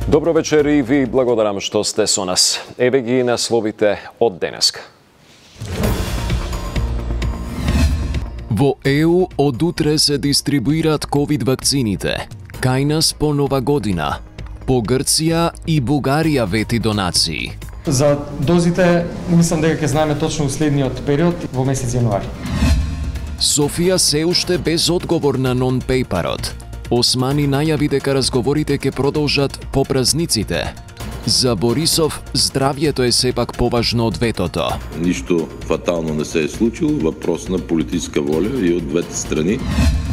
Добро вечер и ви благодарам што сте со нас. Еве ги насловите од денеска. Во ЕУ од утре се дистрибуираат ковид вакцините. Кај нас по Нова година. По Грција и Бугарија вети донации. За дозите, мислам дека ќе знаеме точно уследниот период во месец јануари. Софија се уште без одговор на нон-пейперот. Османи најави дека разговорите ќе продолжат по празниците. За Борисов, здравјето е сепак поважно од ветото. Ништо фатално не се е случило, въпрос на политическа воля и од двете страни.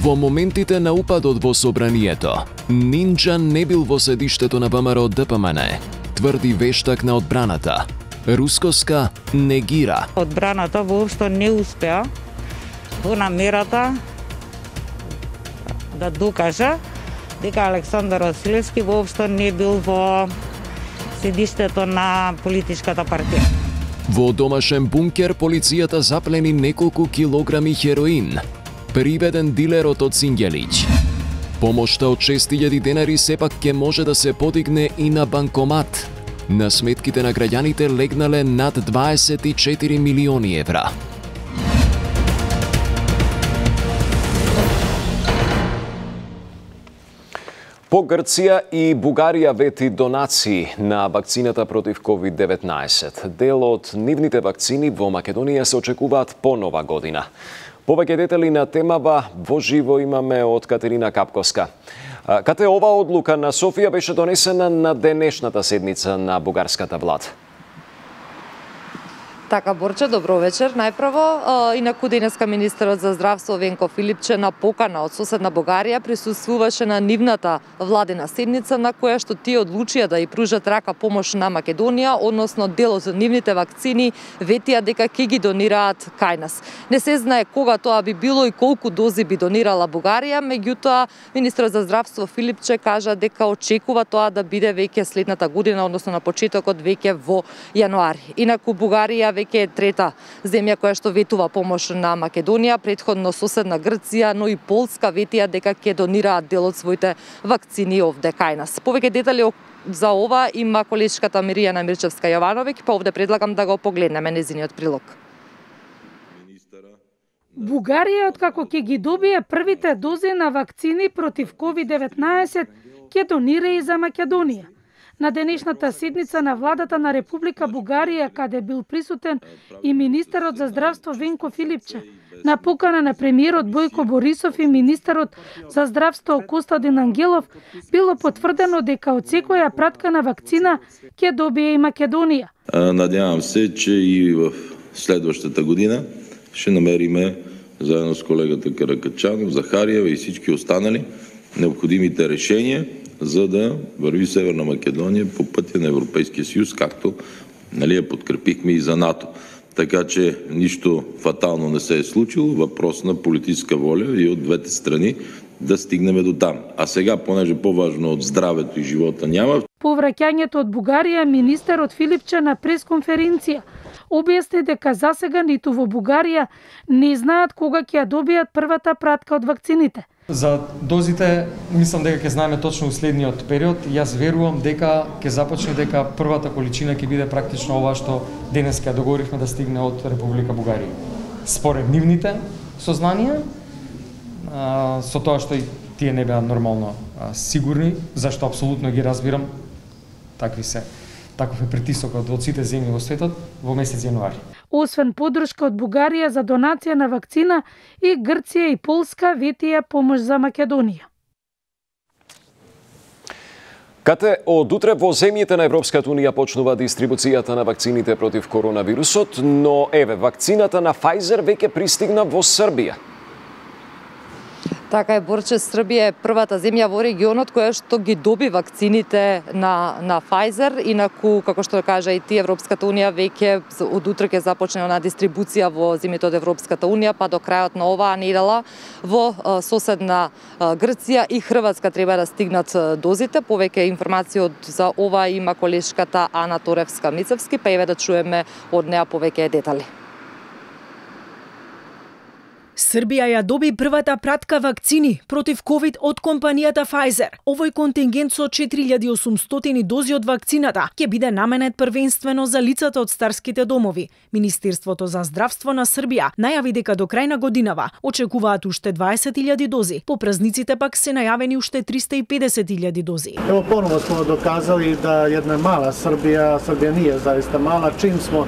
Во моментите на упадот во собранието, Нинџа не бил во седиштето на ВМРО ДПМН, тврди вештак на одбраната. Рускоска негира. Одбраната воопшто не успеа во намерата да докажа дека Александар Василевски воопшто не бил во седиштето на политичката партија. Во домашен бункер полицијата заплени неколку килограми хероин. Приведен дилерот од Сињелиќ. Помошта од 6.000 денари сепак ќе може да се подигне и на банкомат. На сметките на граѓаните легнале над 24 милиони евра. По Грција и Бугарија вети донации на вакцината против COVID-19. Дел од нивните вакцини во Македонија се очекуваат по Нова година. Повеќе детали на темава во живо имаме од Катерина Капковска. Кате оваа одлука на Софија беше донесена на денешната седница на бугарската влада? Така, Борче, добро вечер. Најпрво, инаку денеска министерот за здравство Венко Филипче на покана од соседна Бугарија присуствуваше на нивната владина седница на која што тие одлучија да ја пружат рака помош на Македонија, односно дел од нивните вакцини ветија дека ќе ги донираат кај нас. Не се знае кога тоа би било и колку дози би донирала Бугарија, меѓутоа министерот за здравство Филипче кажа дека очекува тоа да биде веќе следната година, односно на почетокот веќе во јануари. Инаку Бугарија веќе е трета земја која што ветува помош на Македонија, претходно соседна Грција, но и Полска ветија дека ќе донираат дел од своите вакцини овде кај нас. Повеќе детали за ова има колешката Миријана Мирчевска Јовановиќ, па овде предлагам да го погледнеме нејзиниот прилог. Бугарија, откако ќе ги добие првите дози на вакцини против COVID-19, ќе донира и за Македонија. На денешната седница на владата на Република Бугарија, каде бил присутен и министерот за здравство Венко Филипче, на покана на премиерот Бојко Борисов и министерот за здравство Костадин Ангелов, било потврдено дека од секоја пратка на вакцина ќе добие и Македонија. Надявам се, че и в следващата година ще намериме заедно с колегата Каракачанов, Захариева и всички останали необходимите решения, за да върви Северна Македония по пътя на Европейския съюз, както я подкрепихме и за НАТО. Така че нищо фатално не се е случило, въпрос на политическа воля и от двете страни да стигнем до там. А сега, понеже по-важно от здравето и живота няма. По враќањето од Бугарија, министерот Филипче на пресконференција објасни дека засега ниту во Бугарија не знаат кога ќе ја добијат првата пратка од вакцините. За дозите, мислам дека ќе знаеме точно уследниот период. Јас верувам дека ќе започне, дека првата количина ќе биде практично ова што денес ќе договоривме да стигне од Република Бугарија. Според нивните сознанија, со тоа што и тие не беа нормално сигурни, зашто апсолутно ги разбирам, таков е притисокот од сите земји во светот во месец јануари. Освен подршка од Бугарија за донација на вакцина, и Грција и Полска ветија помош за Македонија. Кате од утре во земјите на Европската унија почнува дистрибуцијата на вакцините против коронавирусот, но вакцината на Pfizer веќе пристигна во Србија. Така е, Борче, Србија е првата земја во регионот која што ги доби вакцините на Pfizer, инаку, како што кажа и ти, Европската унија веќе од утре ќе започне на дистрибуција во земјите од Европската унија, па до крајот на оваа недела во соседна Грција и Хрватска треба да стигнат дозите. Повеќе информации за ова има колешката Ана Торевска-Мицевски, па еве да чуеме од неа повеќе детали. Србија ја доби првата пратка вакцини против ковид од компанијата Pfizer. Овој контингент со 4800 дози од вакцината ќе биде наменет првенствено за лицата од старските домови. Министерството за здравство на Србија најави дека до крај на годинава очекуваат уште 20.000 дози. По празниците пак се најавени уште 350.000 дози. Evo ponovo smo dokazali da jedna mala Srbija nije zaista mala, čim smo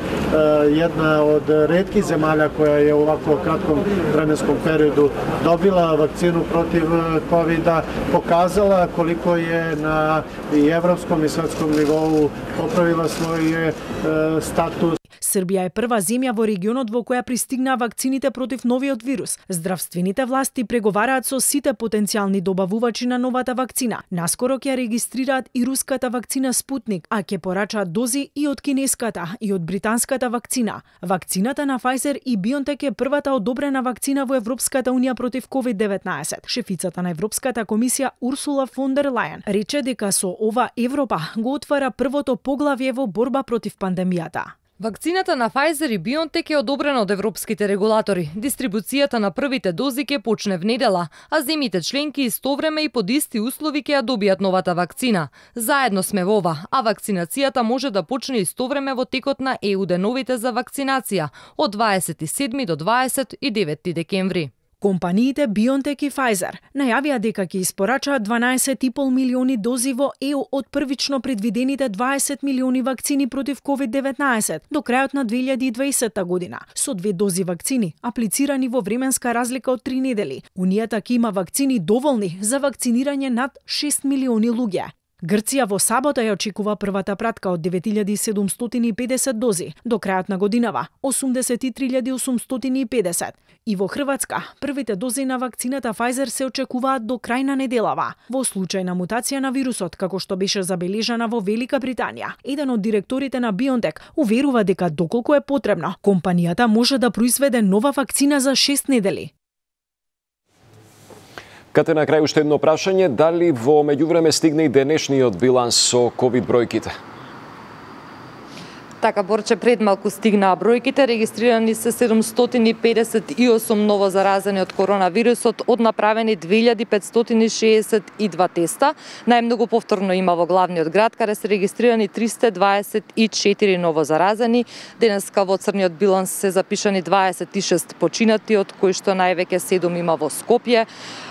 jedna od retkih zemalja koja je u ovako kratkom vremenskom periodu dobila vakcinu protiv COVID-a, pokazala koliko je na i evropskom i svetskom nivou popravila svoj status. Србија е прва земја во регионот во која пристигнаа вакцините против новиот вирус. Здравствените власти преговараат со сите потенцијални добавувачи на новата вакцина. Наскоро ќе регистрираат и руската вакцина Спутник, а ќе порачаат дози и од кинеската и од британската вакцина. Вакцината на Pfizer и BioNTech е првата одобрена вакцина во Европската унија против COVID-19. Шефицата на Европската комисија Урсула фон дер Лајен рече дека со ова Европа го отвара првото поглавје во борба против пандемијата. Вакцината на Pfizer и BioNTech е одобрена од европските регулатори. Дистрибуцијата на првите дози ќе почне внедела, а земјите членки истовреме и под исти услови ќе ја добијат новата вакцина. Заедно сме во ова, а вакцинацијата може да почне истовреме во текот на ЕУ деновите за вакцинација од 27 до 29 декември. Компаниите BioNTech и Pfizer најавија дека ќе испорачаат 12,5 милиони дози во ЕУ од првично предвидените 20 милиони вакцини против COVID-19 до крајот на 2020 година, со 2 дози вакцини аплицирани во временска разлика од 3 недели. Унијата ќе има вакцини доволни за вакцинирање над 6 милиони луѓе. Грција во сабота ја очекува првата пратка од 9750 дози, до крајот на годинава 83.850. И во Хрватска, првите дози на вакцината Pfizer се очекуваат до крај на неделава. Во случај на мутација на вирусот, како што беше забележана во Велика Британија, еден од директорите на BioNTech уверува дека доколку е потребно, компанијата може да произведе нова вакцина за 6 недели. Кате на крај уште едно прашање, дали во меѓувреме стигне и денешниот биланс со ковид бројките? Така, Борче, пред малку стигнаа бројките, регистрирани се 758 ново заразени од коронавирусот, од направени 2562 теста. Најмногу повторно има во главниот град, каде се регистрирани 324 ново заразени. Денеска во црниот биланс се запишани 26 починати, од кои што највеќе 7 има во Скопје,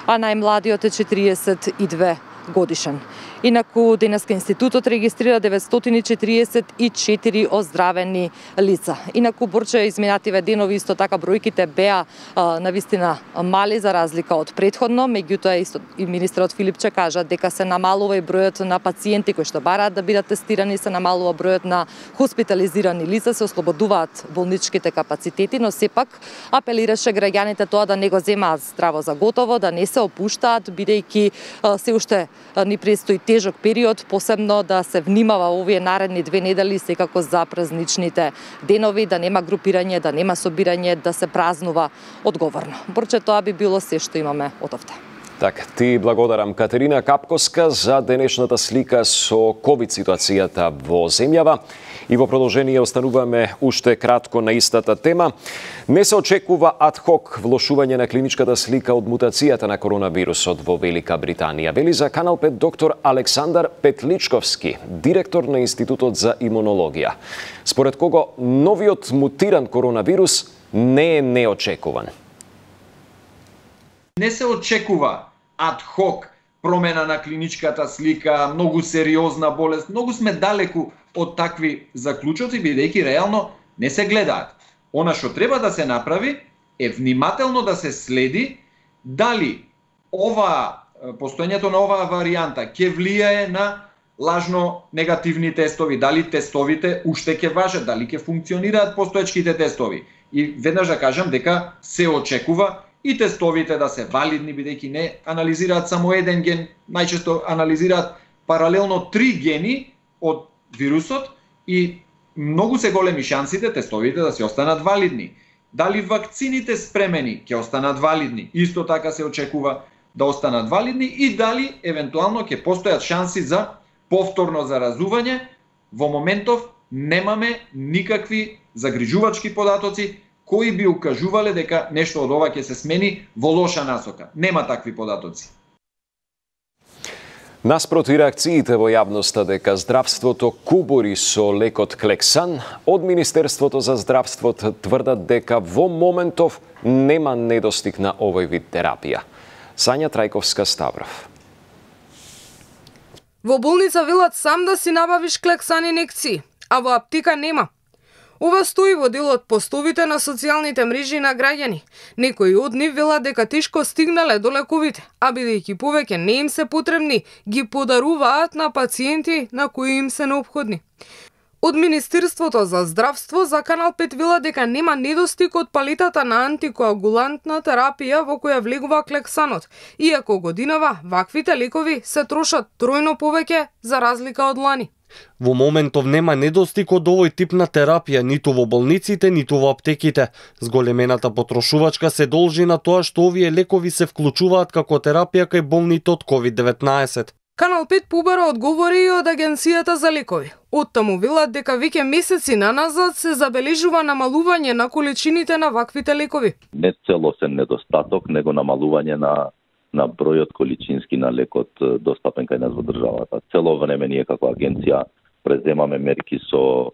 а најмладиот е 42 годишен. Инаку, денеска институтот регистрира 944 оздравени лица. Инаку, Борче, изминативе денови исто така бројките беа навистина мали за разлика од претходно, меѓутоа исто и министерот Филипче кажа дека се намалува и бројот на пациенти кои што бараат да бидат тестирани, се намалува бројот на хоспитализирани лица, се ослободуваат болничките капацитети, но сепак апелираше граѓаните тоа да не го земаат здраво за готово, да не се опуштаат, бидејќи се уште ни престои тежок период, посебно да се внимава овие наредни 2 недели, секако за празничните денови, да нема групирање, да нема собирање, да се празнува одговорно. Борче, тоа би било се што имаме од овде. Така, ти благодарам Катерина Капковска за денешната слика со ковид ситуацијата во земјава. И во продолжение остануваме уште кратко на истата тема. Не се очекува адхок влошување на клиничката слика од мутацијата на коронавирусот во Велика Британија, вели за Канал 5 доктор Александар Петличковски, директор на Институтот за имунологија. Според кого новиот мутиран коронавирус не е неочекуван. Не се очекува адхок промена на клиничката слика, многу сериозна болест, многу сме далеку од такви заклучоци, бидејќи реално не се гледаат. Она што треба да се направи е внимателно да се следи дали постоењето на оваа варијанта ќе влијае на лажно негативни тестови, дали тестовите уште ќе важат, дали ќе функционираат постоечките тестови. И веднаш да кажам дека се очекува и тестовите да се валидни, бидејќи не анализираат само еден ген, најчесто анализираат паралелно 3 гени од вирусот и многу се големи шансите тестовите да се останат валидни. Дали вакцините спремени ќе останат валидни, исто така се очекува да останат валидни и дали евентуално ќе постојат шанси за повторно заразување. Во моментов немаме никакви загрижувачки податоци, кои би укажувале дека нешто од ова ќе се смени во лоша насока. Нема такви податоци. Наспроти реакциите во јавноста дека здравството кубури со лекот Клексан, од Министерството за здравството тврдат дека во моментов нема недостиг на овој вид терапија. Сања Трајковска-Ставров. Во болница велат сам да си набавиш Клексан инекции, а во аптека нема. Ова стои во дел од постовите на социјалните мрежи на граѓани. Некои од нив велат дека тешко стигнале до лековите, а бидејќи повеќе не им се потребни, ги подаруваат на пациенти на кои им се неопходни. Од Министерството за здравство за Канал 5 велат дека нема недостиг од палетата на антикоагулантна терапија во која влегува Клексанот, иако годинава ваквите лекови се трошат тројно повеќе за разлика од лани. Во моментов нема недостиг од овој тип на терапија ниту во болниците, ниту во аптеките. Зголемената потрошувачка се должи на тоа што овие лекови се вклучуваат како терапија кај болните од COVID-19. Канал 5 побара одговори и од Агенцијата за лекови. Оттаму велат дека веќе месеци наназад се забележува намалување на количините на ваквите лекови. Не целосен недостаток, него намалување на бројот количински на лекот достапен кај нас во државата. Цело време ние како агенција преземаме мерки со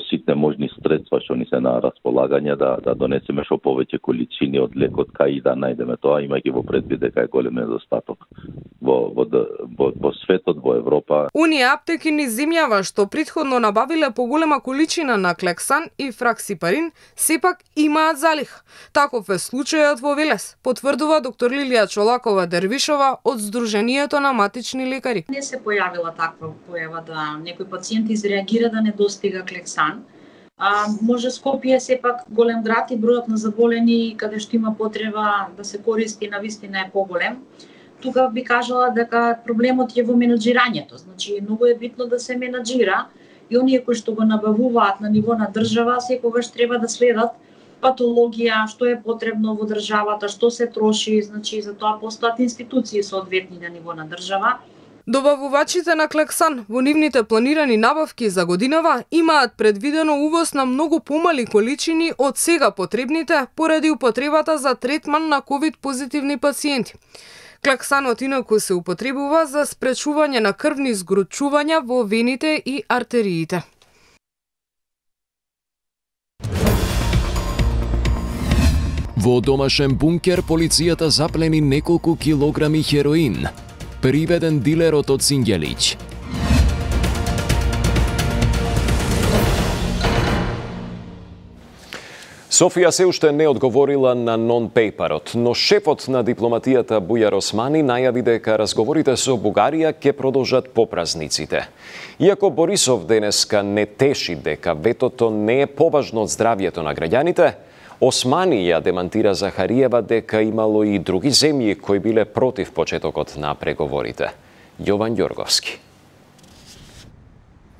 ситне можни средства што ни се на располагање да донесеме што повеќе количини од лекот кај и да најдеме тоа, имајќи во предвид дека е голем недостаток во светот, во Европа. Оние аптеки низ земјава што претходно набавиле поголема количина на Клексан и Фраксипарин, сепак имаат залих. Таков е случајот во Велес, потврдува доктор Лилија Чолакова-Дервишова од Сдруженијето на матични лекари. Не се појавила таква појава да некој пациент изреагира да не достига Клексан. Може Скопје сепак голем град и бројот на заболени каде што има потреба да се користи навистина е поголем. Тука би кажала дека проблемот е во менаџирањето. Значи, многу е битно да се менаџира и оние кои што го набавуваат на ниво на држава секогаш треба да следат патологија, што е потребно во државата, што се троши, значи за тоа постојат институции соодветни на ниво на држава. Добавувачите на Клексан во нивните планирани набавки за годинава имаат предвидено увоз на многу помали количини од сега потребните поради употребата за третман на ковид-позитивни пациенти. Клексанот инаку се употребува за спречување на крвни згручувања во вените и артериите. Во домашен бункер полицијата заплени неколку килограми хероин. Приведен дилерот од Сингелич. Софија се уште не одговорила на нон-пейперот, но шефот на дипломатијата Бујар Османи најави дека разговорите со Бугарија ќе продолжат по празниците. Иако Борисов денеска не теши дека ветото не е поважно од здравјето на граѓаните, Османи ја демантира Захариева дека имало и други земји кои биле против почетокот на преговорите. Јован Ѓорговски.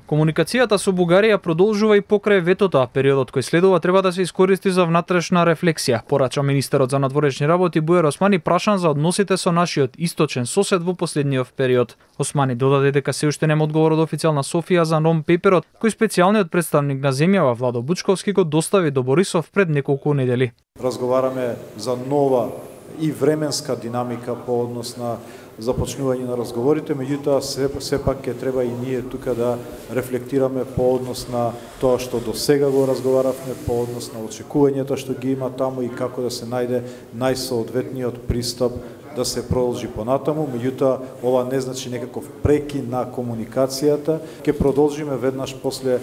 Комуникацијата со Бугарија продолжува и покрај ветото, а периодот кој следува треба да се искористи за внатрешна рефлексија, порача министерот за надворешни работи Бујар Османи прашан за односите со нашиот источен сосед во последниот период. Османи додаде дека се уште нема одговор од официјална Софија за нон-пейперот, кој специјалниот представник на земјава Владо Бучковски го достави до Борисов пред неколку недели. Разговараме за нова и временска динамика по однос на започнување на разговорите, меѓутоа сепак ќе треба и ние тука да рефлектираме по однос на тоа што до сега го разговаравме, по однос на очекувањата што ги има таму и како да се најде најсоодветниот пристап да се продолжи понатаму, меѓутоа ова не значи некаков прекин на комуникацијата. Ќе продолжиме веднаш после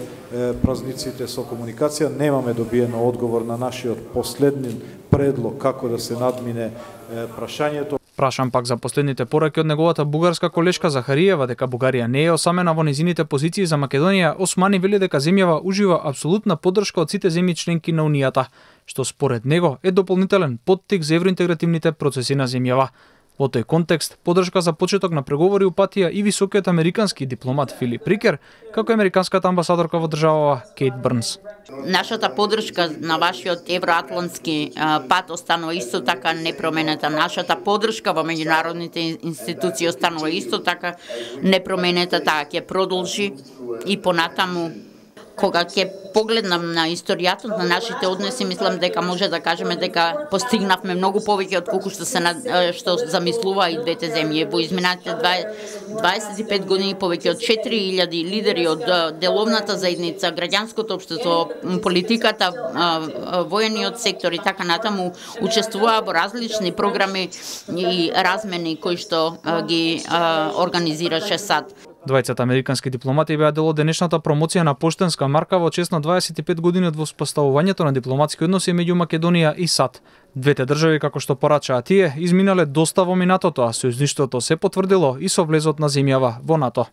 празниците со комуникација. Немаме добиено одговор на нашиот последни предлог како да се надмине прашањето. Прашан пак за последните пораки од неговата бугарска колешка Захариева дека Бугарија не е осамена во незините позиции за Македонија, Османи вели дека земјава ужива апсолутна поддршка од сите земји членки на Унијата, што според него е дополнителен поттик за евроинтегративните процеси на земјава. Во тој контекст, поддршка за почеток на преговори упатија и високиот американски дипломат Филип Рикер, како американската амбасадорка во државава Кейт Брнс. Нашата поддршка на вашиот евроатлантски пат останува исто така непроменита. Нашата поддршка во меѓународните институции останува исто така непроменита, таа ќе продолжи и понатаму. кога ќе погледнам на историјата на нашите односи, мислам дека може да кажеме дека постигнавме многу повеќе од колку што замислува и двете земји. Во изминатите 25 години повеќе од 4000 лидери од деловната заедница, граѓанското општество, политиката, воениот сектор и така натаму учествуваа во различни програми и размени кои што ги организираше САД. Двајцата американски дипломати беа дел од денешната промоција на поштенска марка во чест на 25 години од воспоставувањето на дипломатски односи меѓу Македонија и САД. Двете држави, како што порачаа тие, изминале доста во минатото, а сојузништвото се потврдило и со влезот на земјава во НАТО.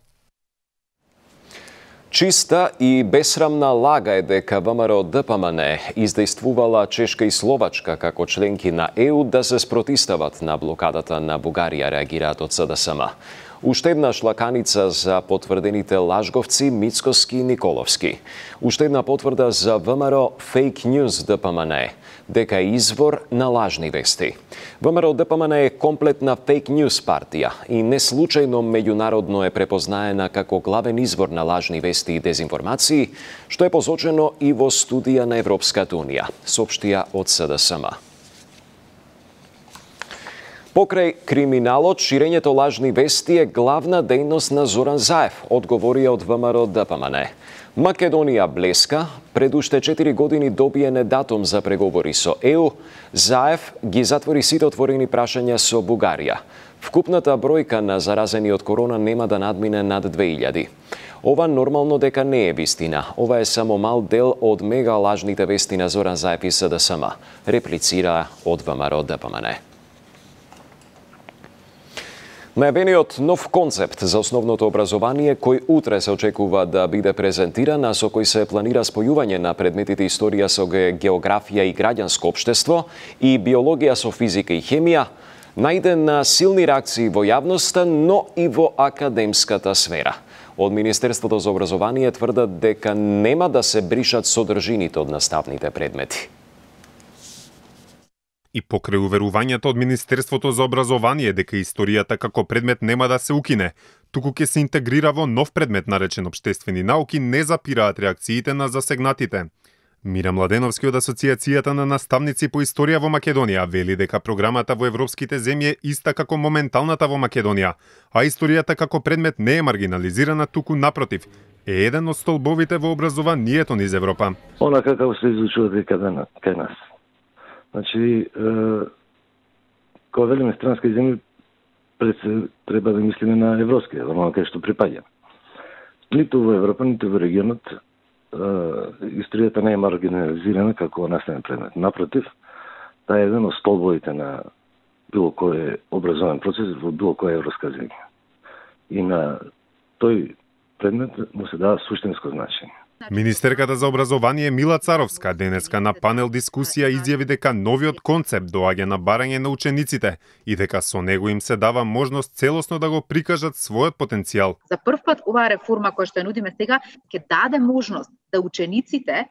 Чиста и бесрамна лага е дека ВМРО ДПМН издействувала Чешка и Словачка како членки на ЕУ да се спротистават на блокадата на Бугарија, реагираат од СДСМ. Уште еднаш лаканица за потврдените лажговци Мицкоски и Николовски. Уште една потврда за ВМРО фейк ньюз ДПМН дека е извор на лажни вести. ВМРО ДПМН е комплетна фейк ньюз партија и не случајно меѓународно е препознаена како главен извор на лажни вести и дезинформации, што е посочено и во студија на Европската унија, соопштија од СДСМ. Покрај криминалот, ширењето лажни вести е главна дејност на Зоран Заев, одговорија од ВМРО ДПМН. Македонија блеска, пред уште 4 години добиене датум за преговори со ЕУ, Заев ги затвори сите отворени прашања со Бугарија. Вкупната бројка на заразени од корона нема да надмине над 2000. Ова нормално дека не е вистина. Ова е само мал дел од мега лажните вести на Зоран Заев и СДСМ, реплицира од ВМРО ДПМН. Најавениот нов концепт за основното образование, кој утре се очекува да биде презентиран, а со кој се планира спојување на предметите историја со географија и граѓанско општество и биологија со физика и хемија, најде на силни реакции во јавноста, но и во академската сфера. Од Министерството за образование тврдат дека нема да се бришат содржините од наставните предмети. И покрај уверувањето од Министерството за образование дека историјата како предмет нема да се укине, туку ќе се интегрира во нов предмет наречен општествени науки, не запираат реакциите на засегнатите. Мира Младеновски од Асоциацијата на наставници по историја во Македонија вели дека програмата во европските земји е иста како моменталната во Македонија, а историјата како предмет не е маргинализирана, туку напротив, е еден од столбовите во образованието низ Европа. Она како се изучува кај нас. Значи, кога велиме странски земји, пред се треба да мислиме на европски, оно кај што припаѓа. Ниту во Европа, ниту во регионот, историјата не е маргинализирана како наставен предмет. Напротив, таа е еден од столбовите на било кој образовен процес во било која европска земја. И на тој предмет му се дава суштинско значење. Министерката за образование Мила Царовска денеска на панел дискусија изјави дека новиот концепт доаѓа на барање на учениците и дека со него им се дава можност целосно да го прикажат својот потенцијал. За прв пат оваа реформа која што ја нудиме сега ќе даде можност да учениците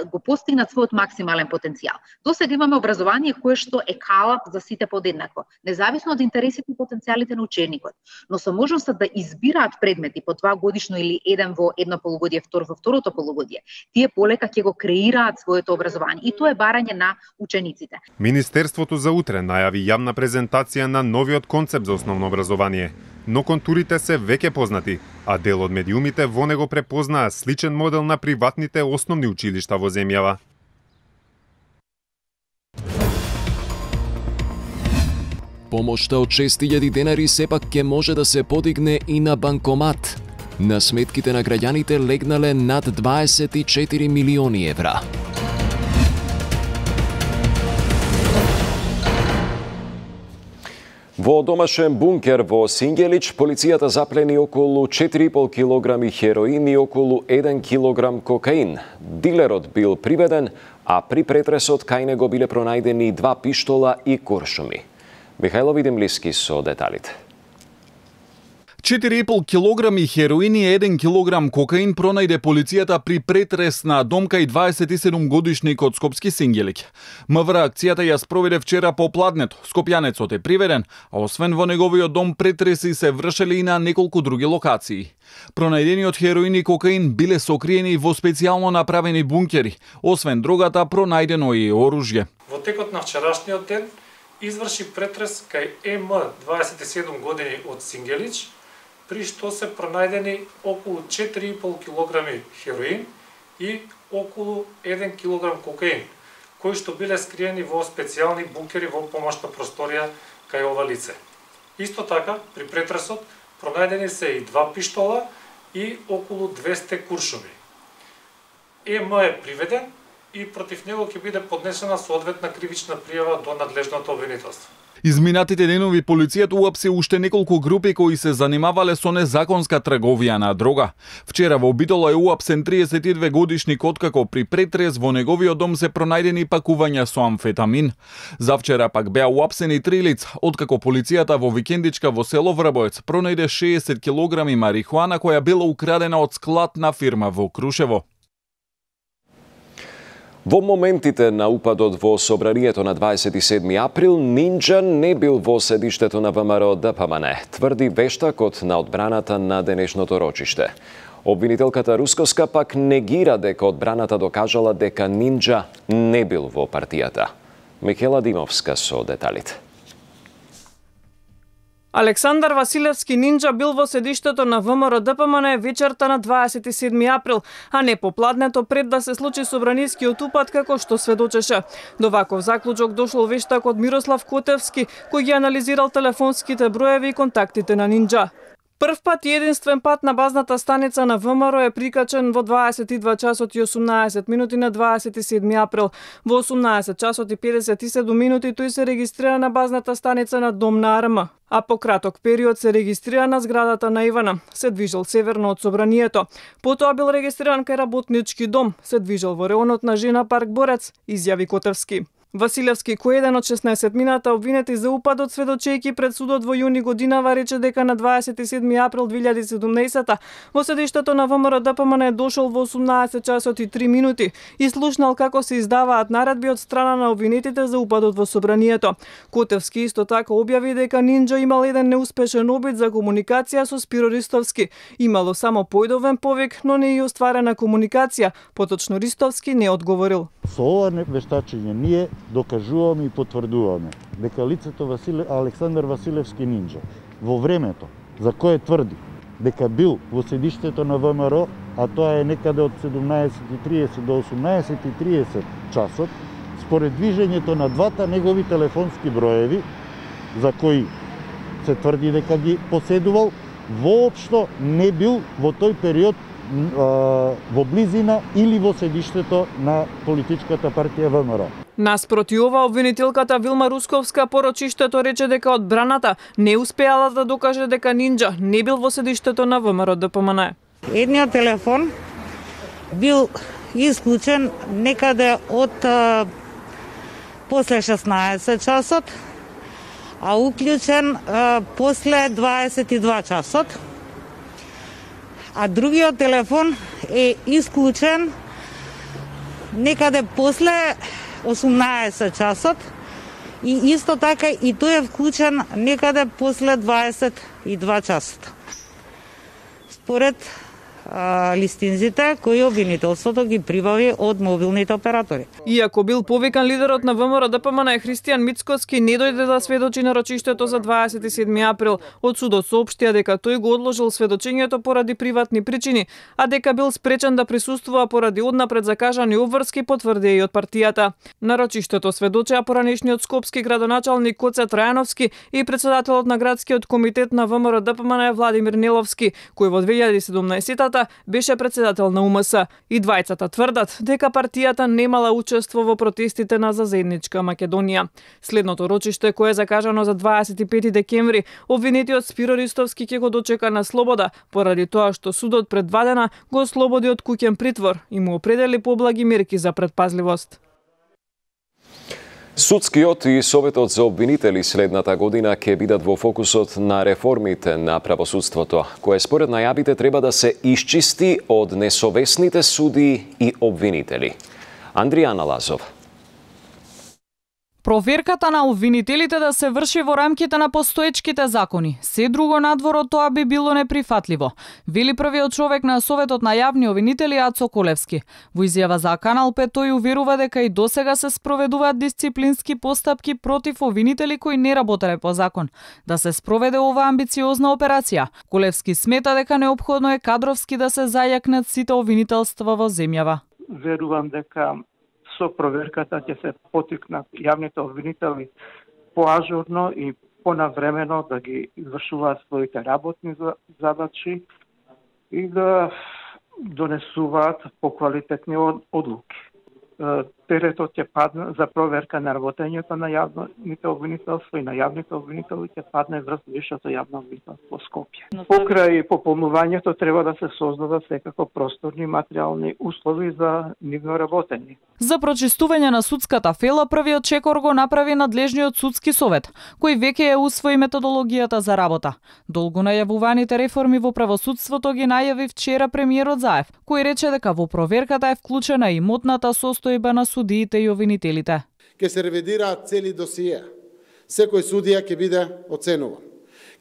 го постигнат својот максимален потенцијал. Досега имаме образование кое што е калап за сите подеднакво, независно од интересите и потенцијалите на ученикот, но со можноста да избираат предмети по 2 годишно или еден во едно полугодие, втор во второто полугодие. Тие полека ќе го креираат своето образование и тоа е барање на учениците. Министерството за утре најави јавна презентација на новиот концепт за основно образование, но контурите се веќе познати, а дел од медиумите во него препознаа сличен модел на приватните основни училишта во земјава. Помошта од 6000 денари сепак ќе може да се подигне и на банкомат. На сметките на граѓаните легнале над 24 милиони евра. Во домашен бункер во Сингелич, полицијата заплени околу 4,5 килограми хероин и околу 1 килограм кокаин. Дилерот бил приведен, а при претресот кај него биле пронајдени 2 пиштола и куршуми. Михајло Видемлиски со деталите. 4,5 килограми хероин и 1 килограм кокаин пронајде полицијата при претрес на домка и 27 годишник од Скопски Сингелик. МВР акцијата ја спроведе вчера попладнето. Скопјанецот е приведен, а освен во неговиот дом претреси се вршеле и на неколку други локации. Пронајдениот хероин и кокаин биле сокриени во специјално направени бункери. Освен дрогата, пронајдено и оружје. Во текот на вчерашниот ден изврши претрес кај ЕМ 27 години од Сингелич, при што се пронајдени околу 4,5 килограми хероин и околу 1 килограм кокаин, кои што биле скриени во специјални бункери во помошна просторија кај ова лице. Исто така, при претресот пронајдени се и 2 пиштола и околу 200 куршуми. ЕМ е приведен и против него ќе биде поднесена соодветна кривична пријава до надлежното обвинителство. Изминатите денови полицијата уапси уште неколку групи кои се занимавале со незаконска трговија на дрога. Вчера во Битола е уапсен 32 годишник откако при претрес во неговиот дом се пронајдени пакувања со амфетамин. Завчера пак беа уапсени 3 лица, откако полицијата во викендичка во село Врабоец пронајде 60 килограми марихуана која била украдена од склад на фирма во Крушево. Во моментите на упадот во собранието на 27 април, Нинџа не бил во седиштето на ВМРО ДПМН, тврди вештакот на одбраната на денешното рочиште. Обвинителката Рускоска пак негира дека одбраната докажала дека Нинџа не бил во партијата. Михела Димовска со деталите. Александар Василевски Нинџа бил во седиштето на ВМРО ДПМН вечерта на 27 април, а не попладнето пред да се случи собранискиот упад како што сведочеше. До ваков заклучок дошол вештакот Мирослав Котевски, кој ги анализирал телефонските броеви и контактите на Нинџа. Прв пат и единствен пат на базната станица на ВМРО е прикачен во 22 часот и 18 минути на 27 април. Во 18 часот и 57 минути тој се регистрира на базната станица на Дом на АРМ, а по краток период се регистрира на зградата на Ивана, се движел северно од собранието. Потоа бил регистриран кај работнички дом, се движел во реонот на Жена парк Борец, изјави Котевски. Василевски, кој еден од 16 мината обвинети за упадот, сведочејќи пред судот во јуни годинава, рече дека на 27 април 2017 во седиштето на ВМРО ДПМН дошол во 18 часот и 3 минути и слушнал како се издаваат наредби од страна на обвинетите за упадот во собранието. Котевски исто така објави дека Нинџа имал еден неуспешен обид за комуникација со Спиро Ристовски. Имало само појдовен повик, но не и остварена комуникација. Поточно Ристовски не одговорил. Со ова вештачење ние докажуваме и потврдуваме дека лицето Александар Василевски Нинџа во времето за кое тврди дека бил во седиштето на ВМРО, а тоа е некаде од 17:30 до 18:30 часот, според движењето на двата негови телефонски броеви, за кои се тврди дека ги поседувал, воопшто не бил во тој период во близина или во седиштето на политичката партија ВМРО. Наспроти ова, обвинителката Вилма Русковска по рочиштето рече дека одбраната не успеала да докаже дека Нинџа не бил во седиштето на ВМРО ДПМН. Едниот телефон бил исклучен некаде од после 16 часот, а уклучен после 22 часот. А другиот телефон е исклучен некаде после 18 часот и исто така и тој е вклучен некаде после 22 часот. Според листинзите кои обвинителството ги прибави од мобилните оператори. Иако бил повикан, лидерот на ВМРО ДПМН Христијан Мицкоски не дојде да сведочи на рочиштето за 27 април. Од судот соопштија дека тој го одложил сведочењето поради приватни причини, а дека бил спречен да присуствува поради однапред закажани обврски, потврди и од партијата. На рочиштето сведочеа поранешниот скопски градоначалник Коце Трајановски и председателот на градскиот комитет на ВМРО ДПМН Владимир Неловски, кој во 2017 беше председател на УМС. И двајцата тврдат дека партијата немала учество во протестите на За заедничка Македонија. Следното рочиште, кое е закажано за 25 декември, обвинетиот Спиро Ристовски ќе го дочека на слобода, поради тоа што судот пред 2 дена го ослободи од куќен притвор и му определи поблаги мерки за предпазливост. Судскиот и Советот за обвинители следната година ќе бидат во фокусот на реформите на правосудството, кое според најавите треба да се исчисти од несовесните суди и обвинители. Андријана Лазов. Проверката на обвинителите да се врши во рамките на постоечките закони. Се друго надвор од тоа би било неприфатливо, вели првиот човек на Советот на јавни обвинители Ацо Колевски. Во изјава за Канал 5 тој уверува дека и досега се спроведуваат дисциплински постапки против обвинители кои не работеле по закон. Да се спроведе оваа амбициозна операција, Колевски смета дека неопходно е кадровски да се зајакнат сите обвинителства во земјава. Верувам дека со проверката ќе се потикнат јавните обвинители поажурно и понавремено да ги извршуваат своите работни задачи и да донесуваат поквалитетни одлуки. Теретот ќе падне за проверка на работењето на јавните обвинителства и на јавните обвинители ќе падне врз Висшето јавно обвинителство Скопје. Покрај пополнувањето треба да се создадат секако просторни материјални услови за нивно работење. За прочистување на судската фела првиот чекор го направи надлежниот судски совет, кој веќе ја усвои методологијата за работа. Долго најавуваните реформи во правосудството ги најави вчера премиерот Заев, кој рече дека во проверката е вклучена и имотната состојба на судиите и обвинителите. Ке се ревидираат цели досиеа. Секој судија ќе биде оценуван.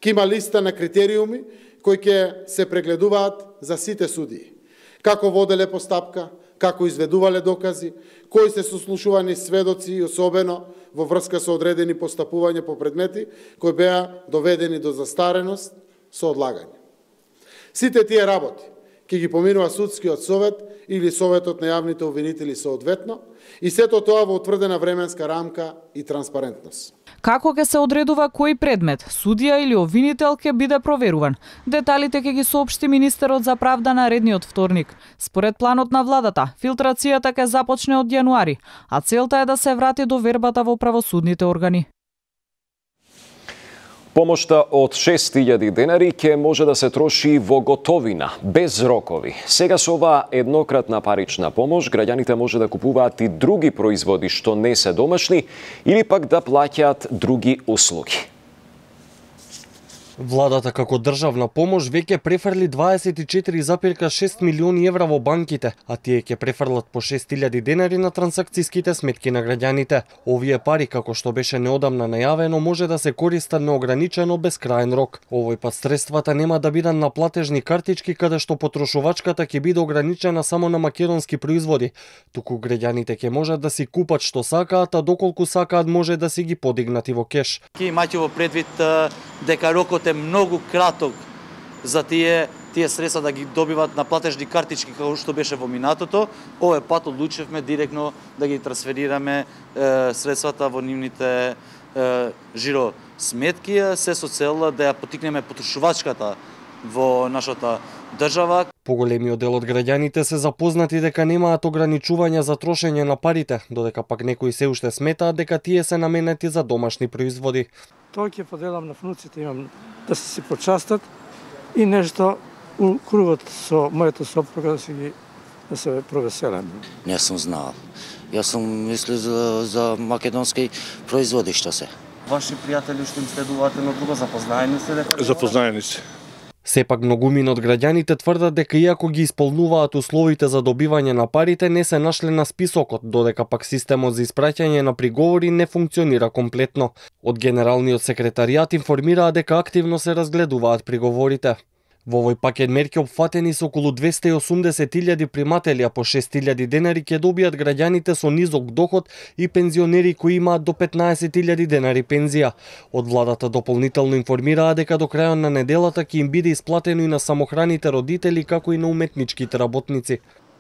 Ке има листа на критериуми кои ќе се прегледуваат за сите судии. Како воделе постапка, како изведувале докази, кои се сослушувани сведоци и особено во врска со одредени постапувања по предмети кои беа доведени до застареност со одлагање. Сите тие работи ќе ги поминува судскиот совет или Советот на јавните обвинители соодветно и сето тоа во утврдена временска рамка и транспарентност. Како ќе се одредува кој предмет, судија или обвинител ќе биде проверуван? Деталите ќе ги соопшти министерот за правда наредниот вторник. Според планот на владата, филтрацијата ќе започне од јануари, а целта е да се врати до вербата во правосудните органи. Помошта од 6.000 денари ќе може да се троши во готовина, без рокови. Сега со оваа еднократна парична помош, граѓаните може да купуваат и други производи што не се домашни или пак да плаќаат други услуги. Владата како државна помош веќе префрли 24,6 милиони евра во банките, а тие ќе префрлат по 6.000 денари на трансакцијските сметки на граѓаните. Овие пари, како што беше неодамна најавено, може да се користат неограничено без краен рок. Овој пат средствата нема да бидат на платежни картички каде што потрошувачката ќе биде ограничена само на македонски производи, туку граѓаните ќе можат да си купат што сакаат, а доколку сакаат може да си ги подигнат и во кеш. Ке имајте во предвид дека рокот е многу краток за тие средства да ги добиват на платежни картички како што беше во минатото. Овој пат одлучивме директно да ги трансферираме средствата во нивните жиро сметки, се со цел да ја потикнеме потрошувачката во нашата држава. Поголемиот дел од граѓаните се запознати дека немаат ограничувања за трошење на парите, додека пак некои се уште сметаат дека тие се наменети за домашни производи. Тоа ќе поделам на внуците, имам да се почастат и нешто у кругот со мојата сопруга да се провеселам. Не сум знал. Јас сум мислил за македонски производи што се. Ваши пријатели што им следуваат едно друго, запознаени се дека? Запознаени се. Сепак многумина од граѓаните тврдат дека иако ги исполнуваат условите за добивање на парите, не се нашле на списокот, додека пак системот за испраќање на приговори не функционира комплетно. Од Генералниот секретаријат информираа дека активно се разгледуваат приговорите. Во овој пакет мерки опфатени се околу 280.000 приматели, а по 6.000 денари ќе добијат граѓаните со низок доход и пензионери кои имаат до 15.000 денари пензија. Од владата дополнително информираа дека до крајот на неделата ќе им биде исплатено и на самохраните родители како и на уметничките работници.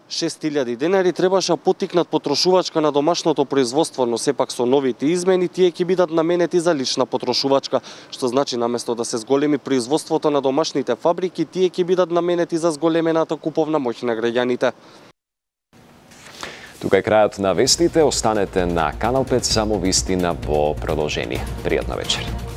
6.000 денари требаше потикнат потрошувачка на домашното производство, но сепак со новите измени тие ќе бидат наменети за лична потрошувачка, што значи наместо да се зголеми производството на домашните фабрики, тие ќе бидат наменети за зголемената куповна моќ на граѓаните. Тука е крајот на вестите, останете на Канал 5, само вистина во продолжение. Пријатна вечер.